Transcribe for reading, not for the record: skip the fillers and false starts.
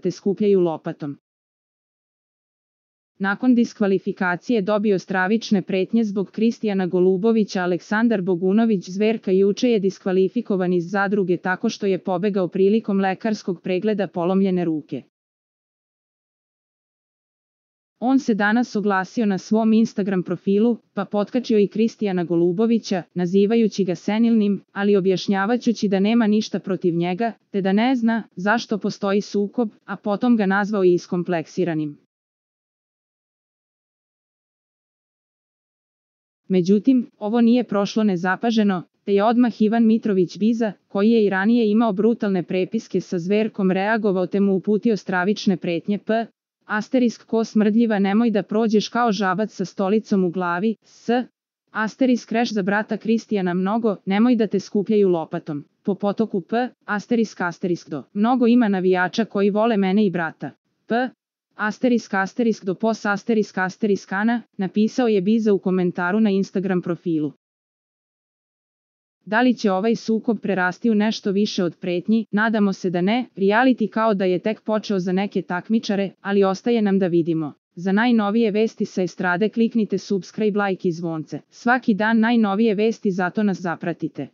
te skupljaju lopatom. Nakon diskvalifikacije dobio stravične pretnje zbog Kristijana Golubovića. Aleksandar Bogunović Zverka juče je diskvalifikovan iz zadruge tako što je pobegao prilikom lekarskog pregleda polomljene ruke. On se danas oglasio na svom Instagram profilu, pa potkačio i Kristijana Golubovića, nazivajući ga senilnim, ali objašnjavajući da nema ništa protiv njega, te da ne zna zašto postoji sukob, a potom ga nazvao i iskompleksiranim. Međutim, ovo nije prošlo nezapaženo, te je odmah Ivan Mitrović Biza, koji je i ranije imao brutalne prepiske sa Zverkom, reagovao te mu uputio stravične pretnje ko smrdljiva, nemoj da prođeš kao žabac sa stolicom u glavi, reš za brata Kristijana mnogo, nemoj da te skupljaju lopatom, po potoku do. Mnogo ima navijača koji vole mene i brata. Do pos ***ana, napisao je Biza u komentaru na Instagram profilu. Da li će ovaj sukob prerasti u nešto više od pretnji? Nadamo se da ne, reality kao da je tek počeo za neke takmičare, ali ostaje nam da vidimo. Za najnovije vesti sa estrade kliknite subscribe, like i zvonce. Svaki dan najnovije vesti, zato nas zapratite.